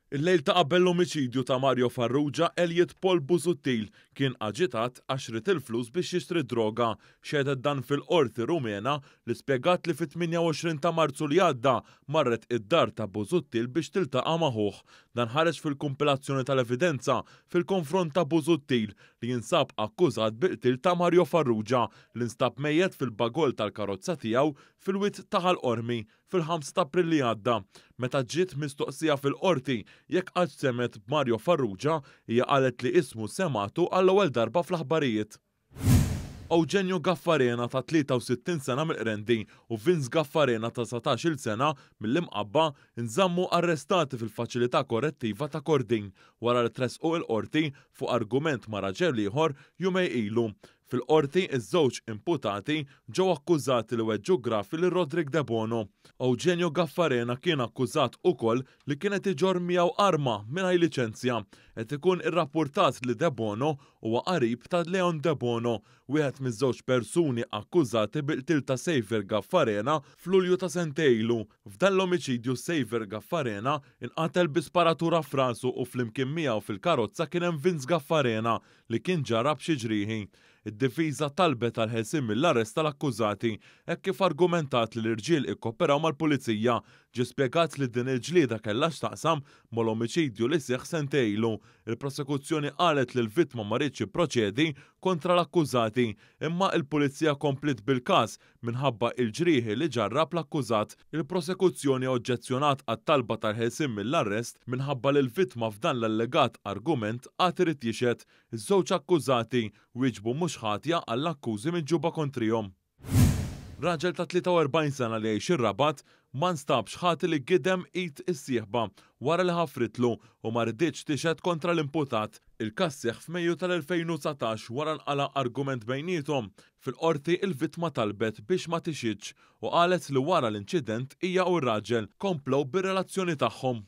Il-lejl ta' qabel l-omiċidju ta' Mario Farrugia, Elliot Paul Busuttil kien aġitat għax ried il-flus biex jixtri d-droga. Xehdet dan fil-Qorti Rumena li spjegat li fit-28 ta' Marzu li għadda marret id-dar ta' Busuttil biex tiltaqa' ma' ħuh. Dan ħareġ fil-kumpilazzjoni tal-evidenza fil-konfront ta' Busuttil li jinsab akkużat bil-qtil ta' Mario Farrugia li nstab mejjet fil-bagoll tal-karozza tiegħu fil-Wied ta' Ħal Qormi fil-5 ta' April li għadda. Meta ġiet mistoqsija fil-Qorti jekk qattx semgħet b'Mario Farrugia, hija qalet li ismu semgħatu għall-ewwel darba fl-aħbarijiet. Eugenio Gaffarena ta' 63 sena mill-Qrendi u Vince Gaffarena ta' 19-il sena mill-Imqabba nżammu arrestati fil-Faċilità Korrettiva ta' Kordin wara li tressqu il-Qorti fuq argument ma' raġel ieħor jumejn ilu. Fil-Qorti, iż-żewġ imputati ġew akkużati li weġġu gravi lil Roderick Debono. Eugenio Gaffarena kien akkużat ukoll li kien qed iġorr miegħu arma mingħajr liċenzja. Qed ikun irrappurtat li Debono huwa qarib ta' Leon Debono, wieħed miż-żewġ persuni akkużati bil-qtil ta' Saviour Gaffarena f'Lulju ta' sentejn ilu. F'dan l-omiċidju Saviour Gaffarena nqatel bi sparatura f'rasu u flimkien miegħu fil-karozza kien hemm Vince Gaffarena li kien ġarrab xi ġrieħi. Id-difiża talbet għall-ħelsien mill-arrest tal-akkużati hekk kif argumentat li l-irġiel ikkoperaw mal-pulizija. Ġie spjegat li din il-ġlieda kellha x'taqsam mal-omiċidju li seħħ sentejn ilu. Il-prosekuzzjoni qalet li l-vittma ma riedx jipproċedi kontra l-akkużati, imma il-pulizija kompliet bil-każ Minħabba il-ġrieħi li ġarrab l-akkużat, il-prosekuzzjoni oġġezzjonat għat-talba tal-ħelsien mill-arrest minħabba li l-vittma f'dan l-allegat argument għad irid jixhed. Iż-żewġ akkużati wieġbu mhux ħatja għall-akkużi miġjuba kontrihom. Raġel ta' 43 sena li jgħix ir-Rabat ma nstabx ħati li gidem id is-sieħba wara li ħafritlu u ma riditx tixhed kontra l-imputat. Il-każ seħħ f'Mejju tal-2019 wara nqala' argument bejniethom. Fil-Qorti il-vittma talbet biex ma tixhidx u qalet li wara l-inċident hija u r-raġel komplew bir-relazzjoni tagħhom.